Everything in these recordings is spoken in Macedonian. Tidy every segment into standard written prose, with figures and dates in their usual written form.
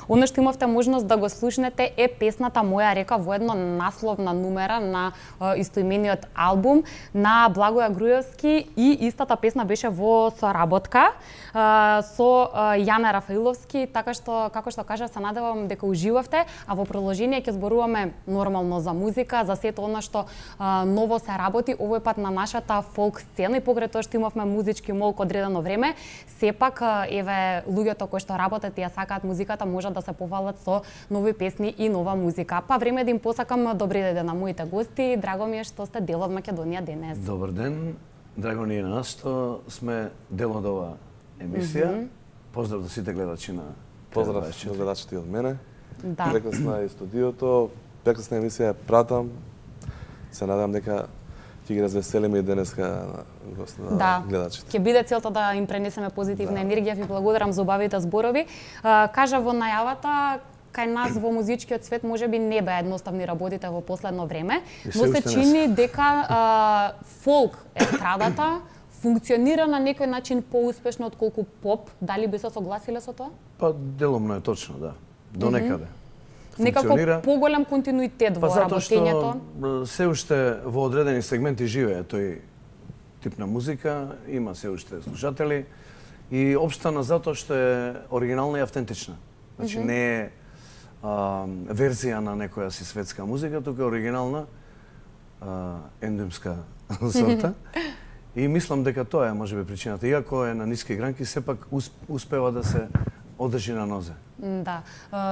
Она што имавте можност да го слушнете е песната Моја река во едно насловна numera на истоимениот албум на Благоја Груевски и истата песна беше во соработка со Јане Рафаиловски, така што како што кажа се надевам дека уживавте, а во продолжение ќе зборуваме нормално за музика, за сето она што ново се работи овој пат на нашата фолк сцена и покрај тоа што имавме музички молк одредено време, сепак еве луѓето кои што работат и ја сакаат музиката можат да се повалат со нови песни и нова музика. Па време да им посакам добри ден на моите гости. Драго ми е што сте дел од Македонија денес. Добар ден. Драго ни е на нас што сме дел од ова емисија. Поздрав до сите гледачи на Поздрав до гледачите од мене. Да. Прекрасна е студиото, прекрасна емисија пратам. Се надам дека ќе ги развеселиме и денеска на гледачите. Ќе биде целта да им пренесеме позитивна енергија. Ви благодарам за убавите зборови. Кажа во најавата, кај нас во музичкиот свет можеби не беа едноставни работите во последно време, но се чини дека фолк естрадата функционира на некој начин поуспешно отколку поп. Дали би се согласиле со тоа? Па деломно е точно, да. До некаде. Некако поголем континуитет во работењето. Затоа што се уште во одредени сегменти живее тој тип на музика, има се уште слушатели и општано затоа што е оригинална и автентична. Значи не е верзија на некоја си светска музика, туку е оригинална ендемска сорта. И мислам дека тоа е можеби причината. Иако е на ниски гранки, сепак успева да се одржи на нозе. Да.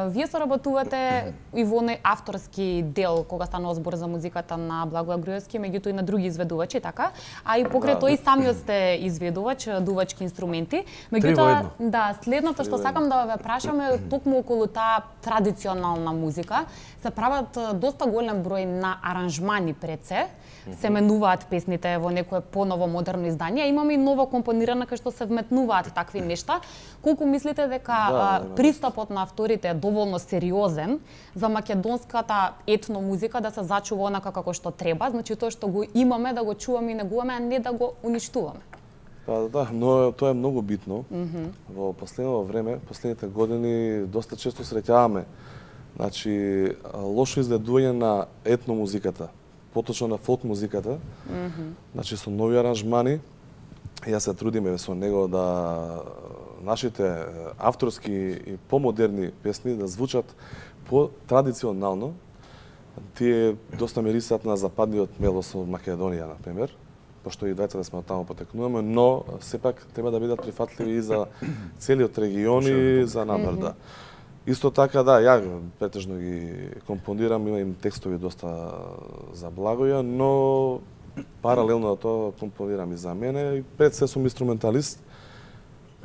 Вие соработувате и во оној авторски дел кога станува збор за музиката на Благоја Груевски, меѓутоа и на други изведувачи, така? А и покрај тоа и самиот сте изведувач, дувачки инструменти. Меѓутоа, да, следното што сакам да ве прашаме токму околу таа традиционална музика, се прават доста голем број на аранжмани пред се менуваат песните во некое поново модерно издание, имаме и ново компонирана кај што се вметнуваат такви нешта. Колку мислите дека пристапот на авторите е доволно сериозен за македонската етно музика да се зачува онака како што треба, значи тоа што го имаме да го чуваме и негуваме, а не да го уништуваме? Па да, но тоа е многу битно. Во последно време, последните години доста често среќаваме значи лошо изведување на етно музиката, поточно на фолк музиката. Значи со нови аранжмани, јас се трудиме со него да нашите авторски и помодерни песни да звучат по-традиционално. Тие доста мирисат на западниот мелос од Македонија, например, пошто и двајцата сме од таму потекнуваме, но сепак треба да бидат прифатливи и за целиот регион и за намер, да. Исто така, да, ја претежно ги компонирам, имам текстови доста за Благоја, но паралелно на тоа компонирам и за мене, и пред се сум инструменталист,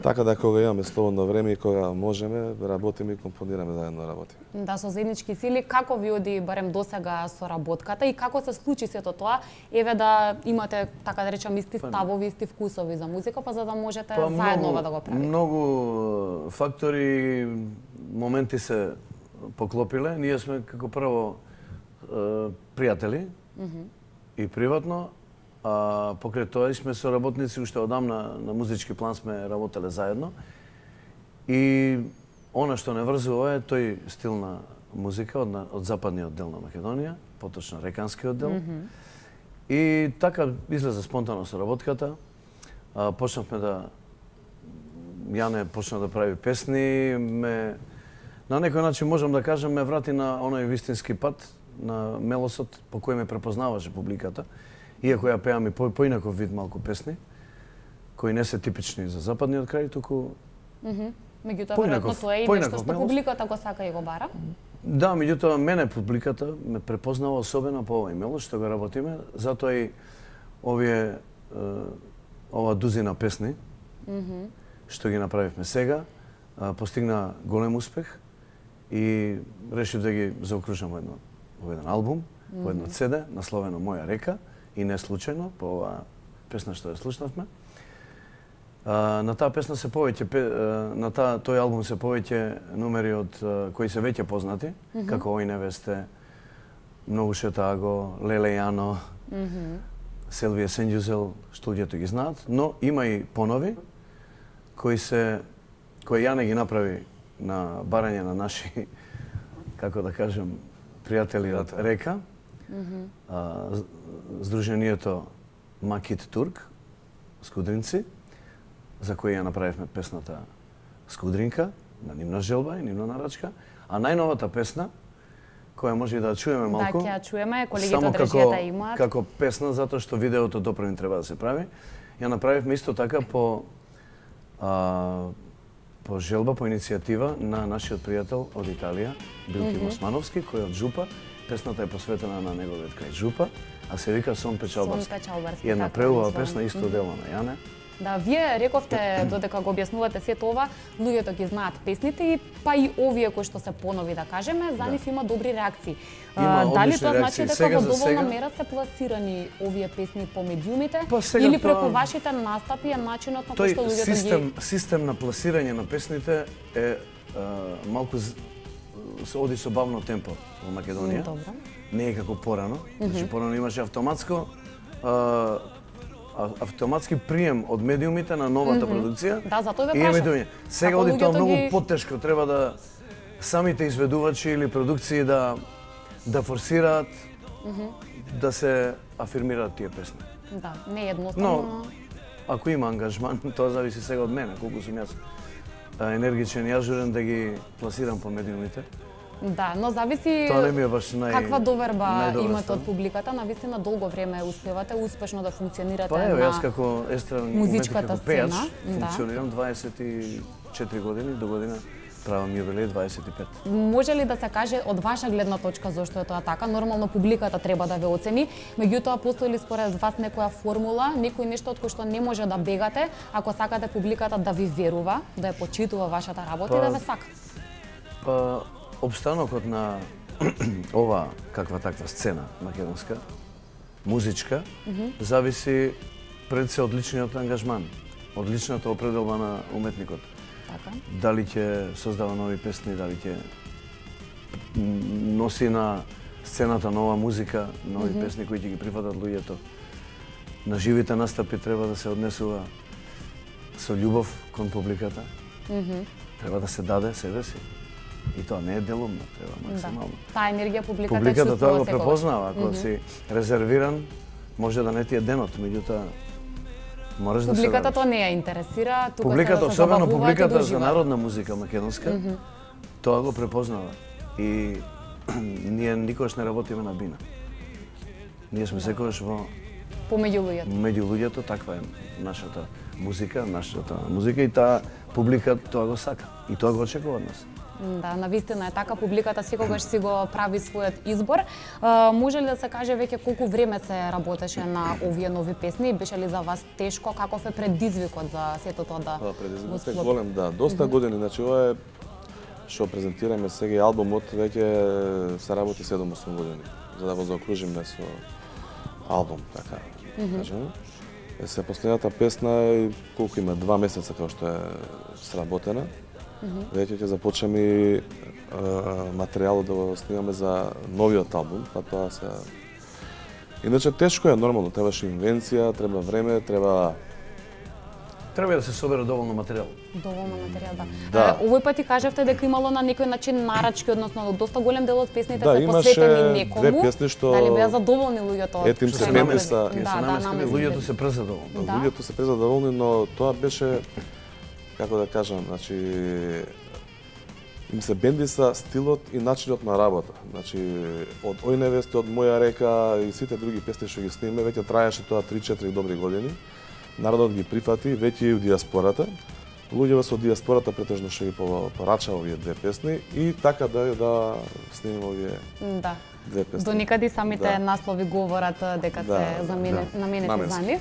така да кога имаме слободно време и кога можеме, работиме и компонираме заедно работиме. Да, со заеднички сили, како ви оди барем досега соработката и како се случи сето тоа, еве да имате, така да речам, исти ставови, исти вкусови за музика, па за да можете заедно да го правите? Многу фактори, моменти се поклопиле. Ние сме како прво пријатели и приватно, а покрај тоа сме соработници уште одамна на музички план сме работеле заедно. И она што не врзува е тој стил на музика од западниот дел на Македонија, поточно реканскиот дел. И така излезе спонтано соработката. Почнавме да Јане почна да прави песни, на некој начин можам да кажам ме врати на оној вистински пат на мелосот по кој ме препознаваше публиката. Иако ја пеам и поинаков вид малку песни, кои не се типични за западниот крај, туку меѓутоа веројатно тоа е и нешто што публиката го сака и го бара. Да, меѓутоа мене публиката ме препознава особено по овој мелос што го работиме, затоа и ова дузина песни што ги направивме сега постигна голем успех и решив да ги заокружам во еден албум, во едно CD, насловено Моја река. И не случајно, по оваа песна што ја слушнавме. На таа песна се повеќе, на тој албум се повеќе номери од кои се веќе познати, како Ој невесте, Многу шетаго, Леле Јано, Селвија Сенџузел, што луѓето ги знаат, но има и понови кои ја не ги направи на барање на наши, како да кажем, пријатели од Река, Сдруженијето Макит Турк, Скудринци, за кој ја направивме песната Скудринка, на нивна желба и нивна нарачка, а најновата песна, која може и да чуеме малку. Да, ќе ја чуеме, колегите од режијата имаат. Како песна, затоа што видеото допрвен треба да се прави. Ја направивме исто така по желба, по иницијатива на нашиот пријател од Италија, Билки Османовски, кој од Жупа. Песната е посветена на неговиот крај Жупа, а се вика Сон Печалбарски. И една преубава песна, исто дело на Јане. Да, вие рековте додека го објаснувате сето ова, луѓето ги знаат песните и па и овие кои што се понови да кажеме, за нив има добри реакции. Дали тоа значи дека во доволна мера се пласирани овие песни по медиумите или преку вашите настапи е начинот на кој што луѓето ги систем на пласирање на песните е малку се оди со бавно темпо во Македонија. Добро. Не е како порано. Значи порано имаше автоматски прием од медиумите на новата продукција. Да, затоа ве прашам. Сега оди тоа многу потешко, треба да самите изведувачи или продукции да форсираат да се афирмираат тие песни. Да, не е едноставно. Но ако има ангажман, тоа зависи сега од мене, колку сум јас енергичен и ажурен да ги пласирам по медиумите. Да, но зависи тоа не ми е баш каква доверба имате од публиката, навистина долго време успевате успешно да функционирате на јас како музичката пејач сцена. функционирам 24 години, до година правам јубилеј 25. Може ли да се каже од ваша гледна точка зошто е тоа така? Нормално публиката треба да ве оцени, меѓутоа постои ли според вас некоја формула, некој нешто од кој што не може да бегате, ако сакате публиката да ви верува, да ја почитува вашата работа и да ве сака? Обстанокот на ова каква таква сцена македонска, музичка, зависи пред се од личниот ангажман, од личната определба на уметникот. Така. Дали ќе создава нови песни, дали ќе носи на сцената нова музика, нови песни кои ќе ги прифатат луѓето. На живите настапи треба да се однесува со љубов кон публиката. Треба да се даде себе си. И тоа не е делумно, треба максимално. Таа енергија публиката Публиката тоа го препознава, ако си резервиран, може да не ти е денот, меѓутоа мораш да се публиката тоа не ја интересира, тука публиката, се особено публиката за народна музика македонска, тоа го препознава. И ние никогаш не работиме на бина. Ние сме секогаш помеѓу луѓето. Меѓу луѓето, таква е нашата музика и таа публика тоа го сака и тоа го очекува од нас. Да, навистина е така, публиката секогаш си го прави својот избор. Може ли да се каже веќе колку време се работеше на овие нови песни? Беше ли за вас тешко? Каков е предизвикот за сето тоа да предизвикот е голем, да. Доста години, значи ова е што презентираме сега албумот, веќе се работи 7-8 години, за да го заокружиме со албум, така кажем. Се последната песна колку има 2 месеца како што е сработена. Веќе ќе започнеме материјалот да го снимаме за новиот албум, па тоа се... Иначе тешко е, нормално, требаше инвенција, треба време, треба да се собере доволно материјал. Доволно материјал, да. Овој пат ти кажавте дека имало на некој начин нарачки, односно доста голем дел од песните се посветени некому. Да, имаше 2 песни што... Дали беа задоволни луѓето? Ете им се бендиса. Луѓето се презадоволни. Луѓето се презадоволни, но тоа беше, како да кажам, значи им се бендиса стилот и начинот на работа. Значи од Ој невесте, од Моја река и сите други песни што ги снимаме, веќе траеше тоа 3-4 добри години. Народот ги прифати, веќе и у диаспората. Луѓето со диаспората претежно што ги порача овие 2 песни и така да снимаме овие 2 песни. До никаде самите наслови говорат дека се наменети за нив.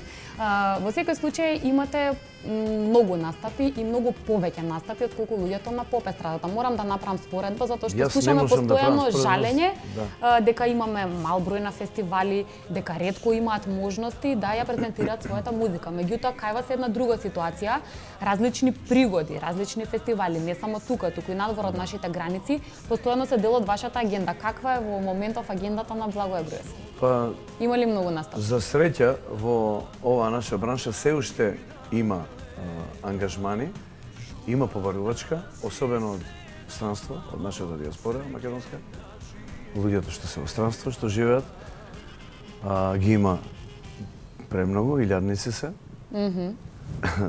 Во секој случај имате многу настапи и многу повеќе настапи од колку луѓето на поп естрадата. Морам да направам споредба затоа што слушаме постојано жалење дека имаме мал број на фестивали, дека ретко имаат можности да ја презентираат својата музика. Меѓутоа кај вас е една друга ситуација, различни пригоди, различни фестивали, не само тука, туку и надвор од нашите граници, постојано се дел од вашата агенда. Каква е во моментов агендата на Благоје Груевски? Па има ли многу настапи? За среќа во оваа наша бранша се уште има ангажмани, има побарувачка, особено од странство, од нашата диаспора македонска. Луѓето што се во странство, што живеат, ги има премногу, илјадници се.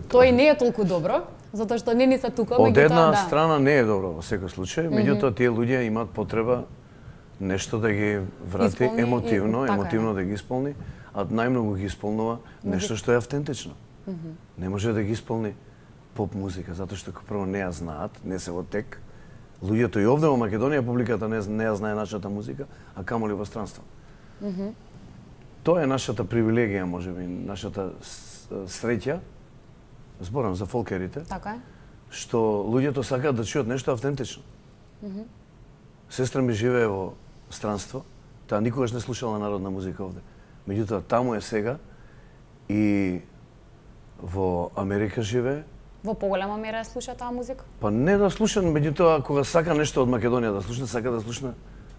Тој не е толку добро, затоа што не ни се тука, Од една страна не е добро во секој случај, меѓутоа тие луѓе имаат потреба нешто да ги врати емотивно да ги исполни, а најмногу ги исполнува нешто што е автентично. Не може да ги исполни поп музика, затоа што прво не ја знаат, не се во тек. Луѓето и овде во Македонија, публиката не ја знае нашата музика, а камоли во странство. Тоа е нашата привилегија, можеби, нашата среќа, зборам за фолкерите, така е, што луѓето сакаат да чујат нешто автентично. Сестра ми живее во странство, таа никогаш не слушала народна музика овде. Меѓутоа, таму е сега и во Америка живее. Во поголема мера слуша таа музика? Па не да слуша, меѓутоа, кога сака нешто од Македонија да слушне, сака да слушне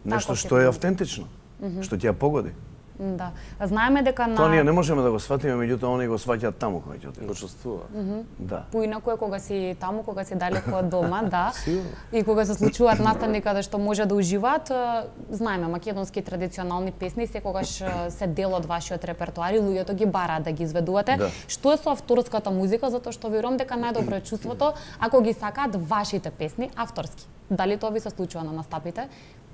нешто што е автентично, што ќе ја погоди. Да. Знаеме дека Тоа ние не можеме да го сватиме, меѓутоа они го сваќаат таму кога ќе отидат. Го чувствува. Да. Поинаку е кога си таму, кога си далеко од дома, да. И кога се случуваат настани каде што може да уживаат, знаеме македонски традиционални песни секогаш се дел од вашиот репертоар и луѓето ги бараат да ги изведувате. Да. Што е со авторската музика, затоа што верувам дека најдобро е чувството ако ги сакаат вашите песни авторски. Дали тоа ви се случува на настапите?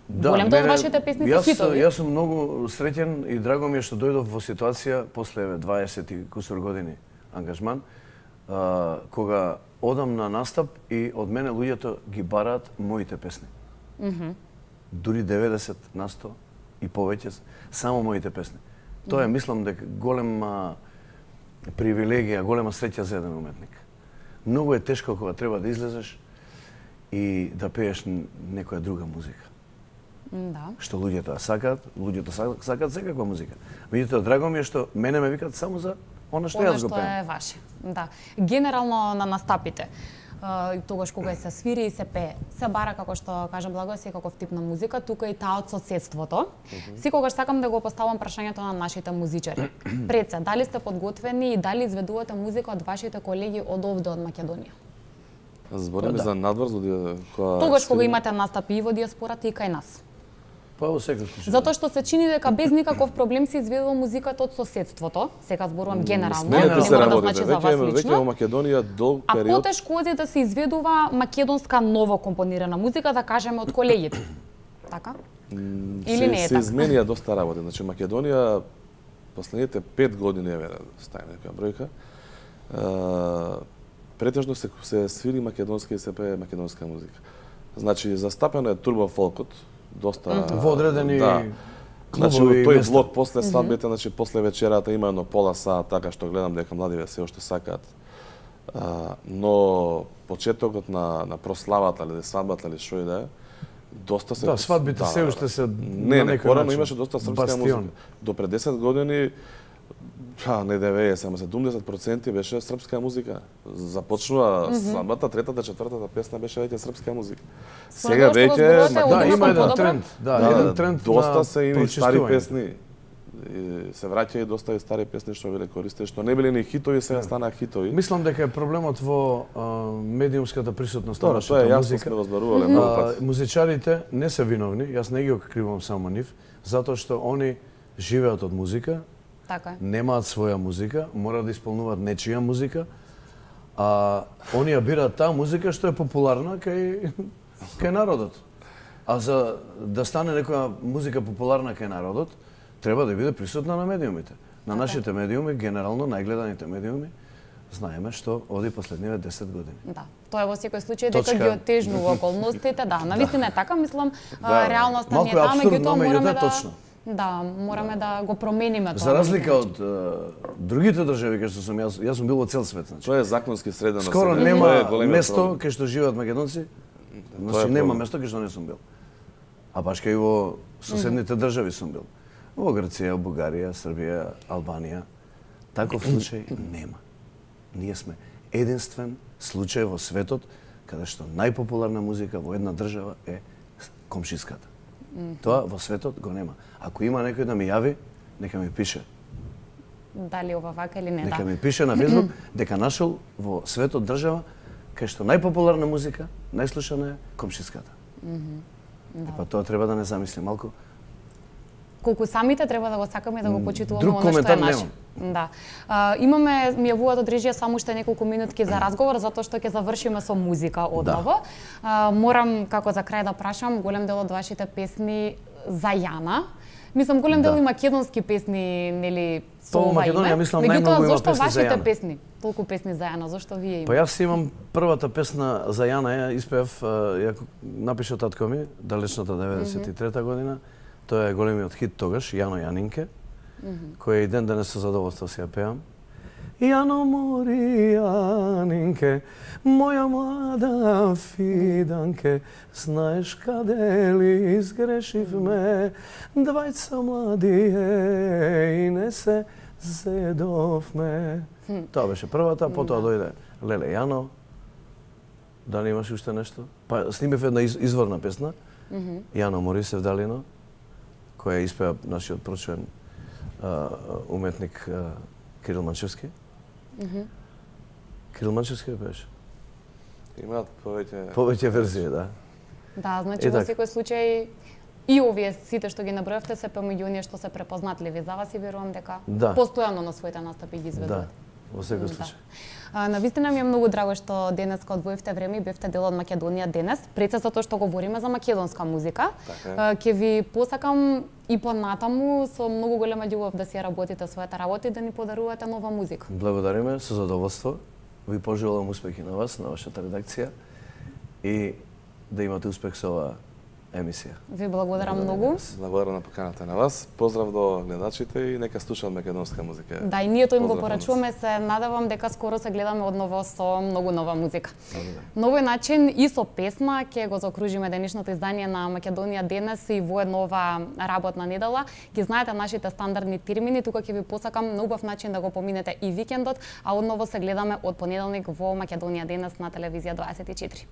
Да, голем дел од вашите песни се хитови. Јас сум многу среќен и драго ми е што дојдов во ситуација после 20 и кусур години ангажман, кога одам на настап и од мене луѓето ги бараат моите песни. Дури 90% и повеќе само моите песни. Тоа е, мислам дека голема привилегија, голема среќа за еден уметник. Многу е тешко кога треба да излезеш и да пееш некоја друга музика. Да. Што луѓето сакаат, сакаат секаква музика. Меѓутоа, драго ми е што мене ме викаат само за она што јас го пеам. Она што е ваше. Да. Генерално на настапите, тогаш кога се свири и се пее, се бара, како што кажа Благо, секаков тип на музика, тука и таа од соседството. Секогаш сакам да го поставам прашањето на нашите музичари. Пред се, дали сте подготвени и дали изведувате музика од вашите колеги од овде од Македонија? Збориме за надвор, тогаш кога имате настапи и во диаспората и кај нас. Па во секој случај. Затоа што се чини дека без никаков проблем се изведува музиката од соседството. Сега зборувам генерално, не мора да значи за вас веќе лично. во Македонија долг период. А потешко е да се изведува македонска ново компонирана музика, да кажеме од колегите. Така? Или не е така? Се изменија доста работи. Значи Македонија последните 5 години, еве ставим некоја бројка, претежно се свири македонски и се пее македонска музика. Значи застапено е турбо фолкот, доста во одредени Значи тој блок после свадбите, значи после вечерата има едно пола сат, така што гледам дека младиве се уште сакаат. Но почетокот на прославата или свадбата или што и да е, доста се... Да, свадбите се уште се на некој начин. Имаше доста српска музика. До пред 10 години, не 90, ама 70% беше српска музика. Започнува свадбата, третата, четвртата песна беше веќе српска музика. Сега веќе има еден тренд, еден тренд доста се и стари песни. Се враќа и доста и стари песни што биле користени, што не биле ни хитови, сега станаа хитови. Мислам дека е проблемот во медиумската присутност на нашата музика. Тоа сме разбарувале многу пати. Музичарите не се виновни, јас не ги окривам само нив, затоа што они живеат од музика. Така е. Немаат своја музика, мора да исполнуваат нечија музика, а оние бираат таа музика што е популарна кај народот. А за да стане некоја музика популарна кај народот, треба да биде присутна на медиумите. На нашите медиуми, генерално најгледаните медиуми, знаеме што оди последниве 10 години. Да, тоа е во секој случај дека ги отежнува околностите, да, навистина е така, мислам, реалноста не е таа, меѓутоа мораме да точно. Да, мораме да го промениме тоа. За разлика од другите држави кај што сум јас сум бил во цел свет, значи. Тоа е законски средено. Скоро нема место кај што живеат македонци. Значи нема место кај што не сум бил. А баш кај во соседните држави сум бил. Во Грција, Бугарија, Србија, Албанија. Таков случај нема. Ние сме единствен случај во светот каде што најпопуларна музика во една држава е комшиската. Тоа во светот го нема. Ако има некој да ми јави, нека ми пише. Дали ова вака или не, нека ми пише на Facebook дека нашол во светот држава кај што најпопуларна музика, најслушана е комшиската. Па тоа треба да не замисли малку. Колку самите треба да го сакаме и да го почитуваме Друг оно што е коментар наше. немам. Да. Имаме, ми јавуваат од режија само уште неколку минутки за разговор, затоа што ќе завршиме со музика одново. Морам како за крај да прашам, голем дел од вашите песни за Јана. Мислам, голем дел и македонски песни, нели, со ова име. Македонија, мислам, Меѓутоа, најмногу има зошто песни за вашите Јана? песни? Толку песни за Јана, зошто вие Па имате? јас имам првата песна за Јана, ја испеав, ја напиша татко ми, далечната 93-та година. Тоа е големиот хит тогаш, Јано Јанинке, кој и ден денес со задоволство си ја пеам. Јано мори Јанинке, моја млада фиданке, знаеш каде ли изгрешивме, двајца млади и не се зедовме. Тоа беше првата, потоа дојде Леле Јано. Дали имаш уште нешто? Па снимев една изворна песна, Јано мори Севдалино, која испеа нашиот прочуен уметник Кирил Манчевски. Кирил Манчевски беше. Имаат Повеќе верзии, да. Да, значи во секој случај и овие сите што ги набројавте се помеѓу оние што се препознатливи за вас и верувам дека постојано на своите настапи ги изведувате. Во секој случај. Навистина ми е многу драго што денеска одвоивте време и бевте дел од Македонија денес, пред се затоа што говориме за македонска музика. Ќе ви посакам и понатаму со многу голема љубов да си ја работите својата работа и да ни подарувате нова музика. Благодариме, со задоволство. Ви пожелувам успехи на вас, на вашата редакција и да имате успех со оваа емисија. Ви благодарам многу. Благодарам на поканата на вас. Поздрав до гледачите и нека слушаат македонска музика. Да, и ние тоа им го порачуваме, се надевам дека скоро се гледаме одново со многу нова музика. На овој начин и со песна ќе го заокружиме денешното издание на Македонија денес и во една ова работна недела. Ги знаете нашите стандардни термини, тука ќе ви посакам на убав начин да го поминете и викендот, а одново се гледаме од понеделник во Македонија денес на телевизија 24.